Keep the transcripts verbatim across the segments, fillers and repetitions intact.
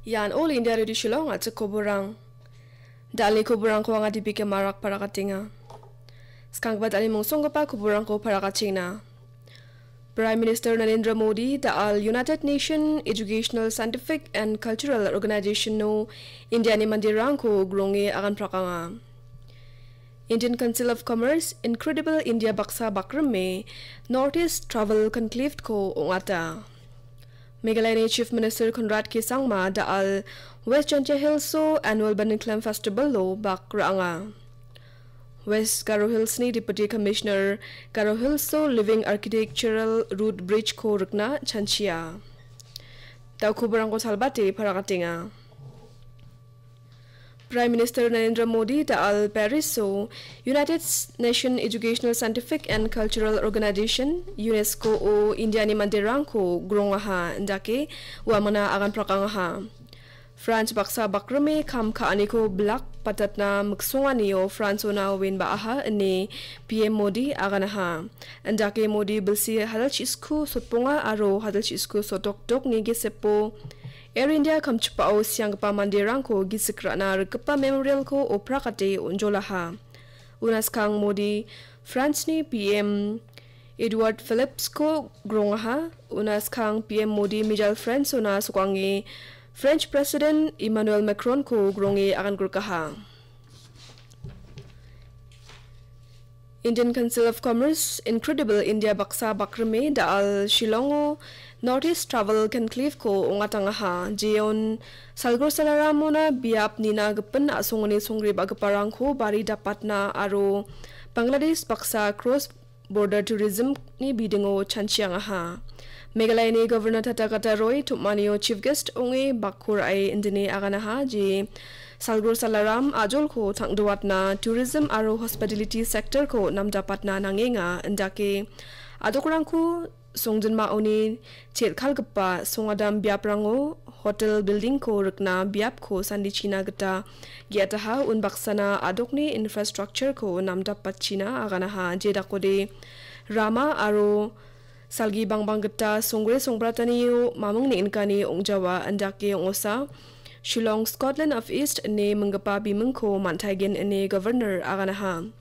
Ian All India Radio Shillong a·chik koborang. Dalni koborangko anga D B K Marak parakatenga. Skanggipa dalni mungsonggipa koborangko parakachengna. Prime Minister Narendra Modi da·al United Nation Educational, Scientific and Cultural Organization-o Indiani manderangko gronge aganprakanga. Indian Council of Commerce Incredible India baksa bakrime North East Travel Conclave-ko ong·ata. Meghalayani Chief Minister Conrad K Sangma da·al West Jaintia Hills-o Annual Banding Clam Festival-o bak ra·anga. West Garo Hills-ni Deputy Commissioner Garo Hills-o Living Architectural Root Bridge-ko rikna chanchia. Da·o koborangko salbate parakatenga. Prime Minister Narendra Modi da·al Paris-o United Nation Educational, Scientific and Cultural Organization, UNESCO-o Indiani manderangko grongaha, indake uamangna aganprakangaha. France baksa bakrime kam ka·aniko bilak patatna miksonganio France-ona uen ba·aha ine P M Modi aganaha. Indake Modi bilsi hadalchi sku sotbonga aro hadalchi sku sotdokdokni gesepo Air India kamchipao sianggipa manderangko gisik ra·na rikgipa memorial-ko oprakate onjolaha. Una skang Modi France-ni P M Edouard Philippe-ko grongaha. Una skang P M Modi mijal France-ona sokange French President Emmanuel Macron-ko gronge agangrikaha. Indian Council of Commerce Incredible India baksa bakrime da·al Shillong-o North East Travel Conclave-ko ong·atangaha. Jeon Salgor Salaramona biap nina gipin a·songoni songgribagiparangko bari dapatna aro Bangladesh baksa cross border tourism-ni bidingo chanchiangaha. Meghalayani Governor Tathagata Roy tom·anio Chief Guest ong·e bakko ra·e indine aganaha, je Salgor Salaram ajolko tang·doatna tourism aro hospitality sector-ko namdapatna nangenga, indake adokrangko songjinmaoni chelkalgipa songadam biaprango hotel building-ko rikna biapko sandichina gita ge·ataha, unbaksana adokni infrastructure-ko namdapatchina aganaha, jedakode rama aro salgi bangbang gita songre songbratanio mamung neng·nikani ong·jawa, indake ong·osa Shillong Scotland of East ine minggipa bimingko man·taigen ine Governor aganaha.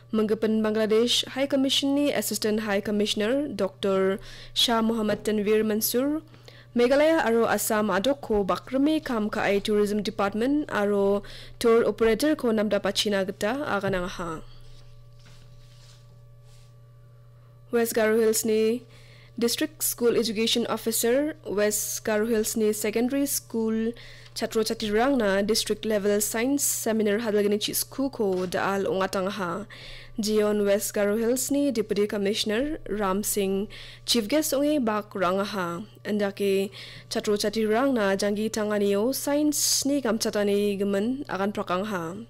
Minggipin Bangladesh High Commission-ni Assistant High Commissioner Doctor Shah Mohammad Tanvir Mansur, Meghalaya aro Assam adokko bakrime kam ka·e Tourism Department aro tour operator-ko namdapatchina gita aganangaha. West Garo Hills-ni District School Education Officer, West Garo Hills-ni Secondary School chatro chatrirangna District Level Science Seminar hadalgni chiskuko da·al ong·atangaha. Jeon West Garo Hills-ni Deputy Commissioner Ram Singh Chief Guest ong·e bak ra·angaha. Indake chatro chatrirangna janggi tanganio science-ni gamchatani gimin aganprakangaha.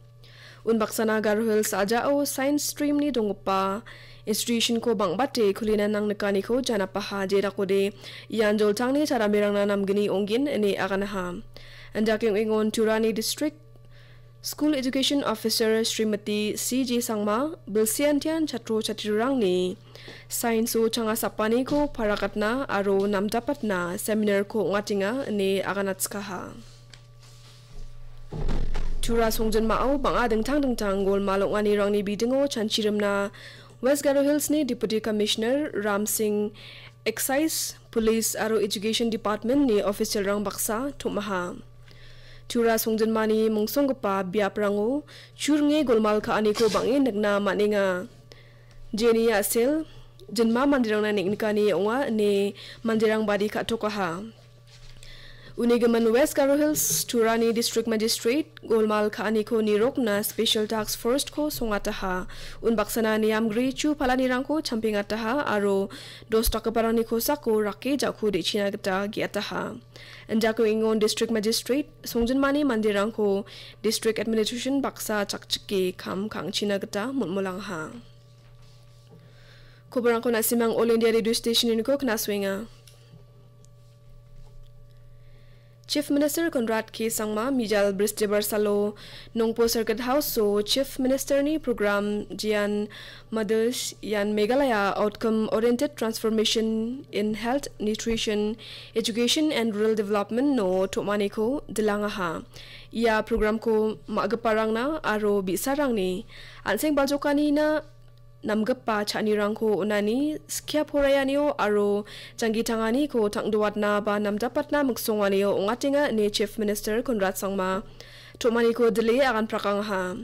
Unbaksana Garo Hills a·jao science stream-ni donggipa institution-ko bang·bate kulina nangnikaniko janapaha, jedakode ian joltangni chadamerangna namgni ong·gen ine aganaha. Indake ong·engon Turani District School Education Officer Srimati C J Sangma bilsiantian chatro chatrirangni science-o changasapaniko parakatna aro namdapatna seminar-ko ong·atenga ine aganatskaha. Tura songjinmao bang·a dingtang dingtang golmal ong·anirangni bidingo chanchirimna West Garo Hills-ni Deputy Commissioner Ram Singh, Excise, Police aro Education Department-ni official-rang baksa tom·aha. Tura songjinmani mungsonggipa biaprango churinge golmal ka·aniko bang·e nikna man·enga. Jeni a·sel, jinma manderangna neng·nikani ong·a ine manderang badi ka·tokaha. Uni gimin West Garo Hills Turani District Magistrate golmal ka·aniko nirokna Special Task Force-ko songataha. Unbaksana niamgri chu palanirangko champengataha aro dos dakgiparangni kosako rake ja·ko de·china gita ge·ataha. Indake ong·engon District Magistrate songjinmani manderangko District Administration baksa chakchike kam ka·angchina gita molmolangaha. Koborangko na·simang All India Radio Station-niko knasuenga. Chief Minister Conrad K Sangma mijal Bristibar salo Nongpo Circuit House-o Chief Minister-ni program Jian Madhush Yan Meghalaya Outcome Oriented Transformation in Health, Nutrition, Education and Rural Development-o tom·aniko dilangaha. Ia programko ma·giparangna aro bi·sarangni an·seng baljokanina namgipa cha·anirangko on·ani, skia poraianio aro janggi tanganiko tang·doatna ba namdapatna miksonganio ong·atenga ine Chief Minister Conrad Sangma tom·aniko dile aganprakangaha.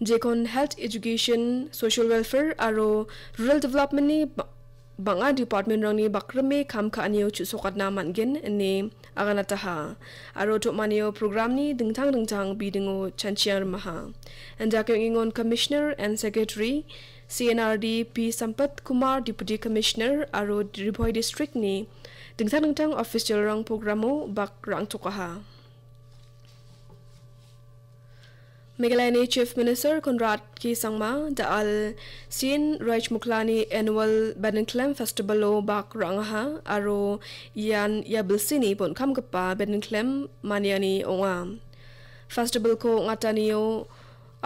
Jekon health, education, social welfare aro rural development-ni ba-, bang·a department-rangni bakrime kam ka·anio chu·sokatna man·gen ine aganataha. Aro tom·anio programni dingtang dingtang bidingo chanchiang rimaha. Indakiong ingon Commissioner and Secretary C N R D P Sampat Kumar, Deputy Commissioner aro Ri Bhoi District-ni dingtang dingtang official-rang programo bak ra·angtokaha. Meghalayani Chief Minister Conrad K Sangma da·al Sien Rajmuklani annual Bedengklem Festival-o bak ra·angaha aro ian ia bilsini bon·kamgipa Bedengklem maniani ong·a. Festival-ko ong·atanio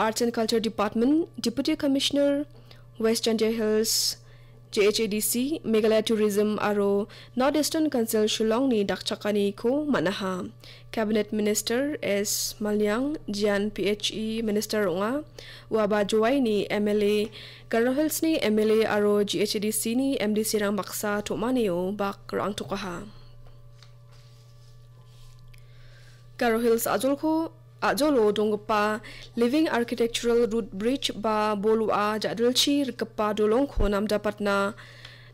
Arts and Culture Department, Deputy Commissioner, West Jaintia Hills, J H A D C, Meghalaya Tourism aro North Eastern Council Shillong-ni dakchakaniko man·aha. Cabinet Minister S Maliang, Jian P H E Minister ong·a. Uaba Jowaini M L A, Garo Hills-ni M L A aro J H A D C-ni M D C-rang baksa tom·anio bak ra·angtokaha. Garo Hills a·jolko, a·jolo donggipa Living Architectural Root Bridge ba bol wa·a ja·dilchi rikgipa dolongko namdapatna,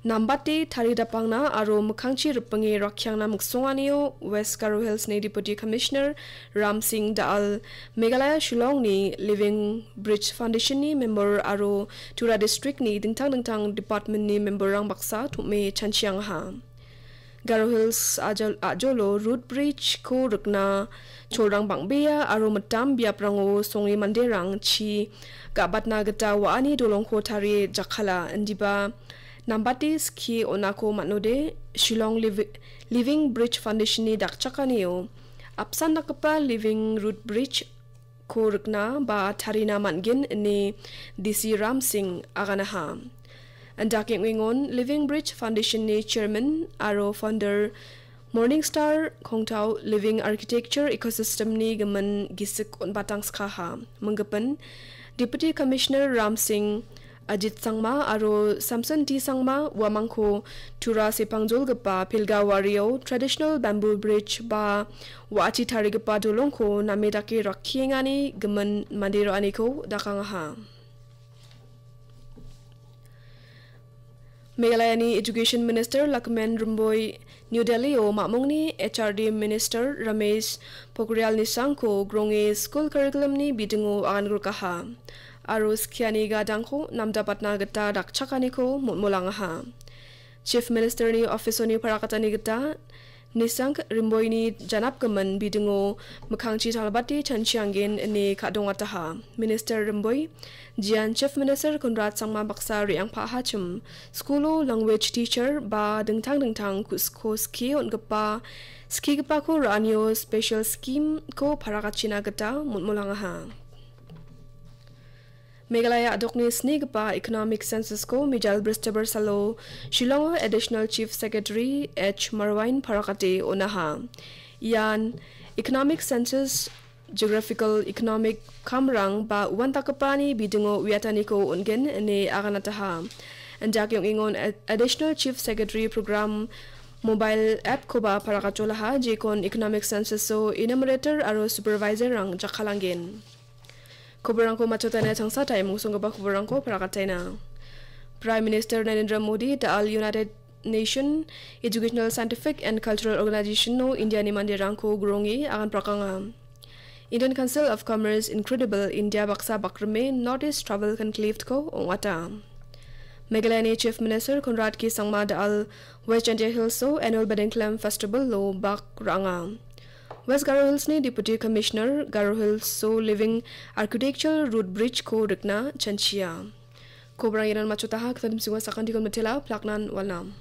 nambate taridapangna aro mikkangchi ripinge rakkiangna miksonganio West Garo Hills-ni Deputy Commissioner Ram Singh da·al Meghalaya Shillong-ni Living Bridge Foundation-ni member aro Tura District-ni dingtang dingtang department-ni member-rang baksa tom·e chanchiangaha. Garo Hills ajol-, a·jolo Root Bridge-ko rikna cholrang bang·bea aro mitam biaprango songe manderang chi ga·batna gita wa·ani dolongko tarie jakkala, indiba nambate skie on·ako man·ode, Shillong Livi-, Living Bridge Foundation-ni dakchakanio apsan dakgipa Living Root Bridge ko rikna ba tarina man·gen ine D C Ram Singh aganaha. Indake ong·engon Living Bridge Foundation-ni chairman aro founder Morning Star Kongtao Living Architecture Ecosystem-ni gimin gisik on·batang skaha. Minggipin Deputy Commissioner Ram Singh Ajit Sangma aro Samson T Sangma uamangko Tura sepangjolgipa pilga wario traditional bamboo bridge ba wa·achi tarigipa dolongko name dake rakkiengani gimin mande ra·aniko dakangaha. Meghalayani Education Minister Lakmen Rymbui New Delhi-o mamungni H R D Minister Ramesh Pokhriyal Nishank-ko gronge skul curriculum-ni bidingo agangrikaha aro skiani gadangko namdapatna gita dakchakaniko molmolangaha. Chief Minister-ni office-oni parakatani gita Nishank Rymbuini janapgimin bidingo mikkangchi talbate chanchianggen ine ka·dongataha. Minister Rymbui, Jian Chief Minister Conrad Sangma baksa re·angpahachim, skulo language teacher ba dingtang dingtang kusko skie on·gipa, skigipako ra·anio special scheme-ko parakatchina gita molmolangaha. Meghalaya a·dokni snigipa Economic Census-ko mijal Bristibar salo Shillongo Additional Chief Secretary H Marwain parakate on·aha. Ian Economic Census Geographical Economic kamrang ba uandakgipani bidingo uiataniko on·gen ine aganataha. Indake ong·engon Ad-, Additional Chief Secretary Program mobile app-koba parakatjolaha, jekon Economic Census-o enumerator aro supervisor-rang jakkalanggen. Koborangko matchotana changsatai mungsonggipa koborangko parakataina. Prime Minister Narendra Modi da·al United Nation Educational, Scientific and Cultural Organization-o India-ni manderangko gronge aganprakanga. Indian Council of Commerce Incredible India baksa bakrime North East Travel Conclave-ko ong·ata. Meghalayani Chief Minister Conrad K Sangma da·al West Jaintia Hills-o Annual Bedengklem Festival-o bak ra·anga. West Garo Hills-ni Deputy Commissioner Garo Hills-o Living Architecture Root Bridge-ko rikna chanchia. Koborang ian matchotaha, kitadim singwa sakantikon matela, plaknan walnam.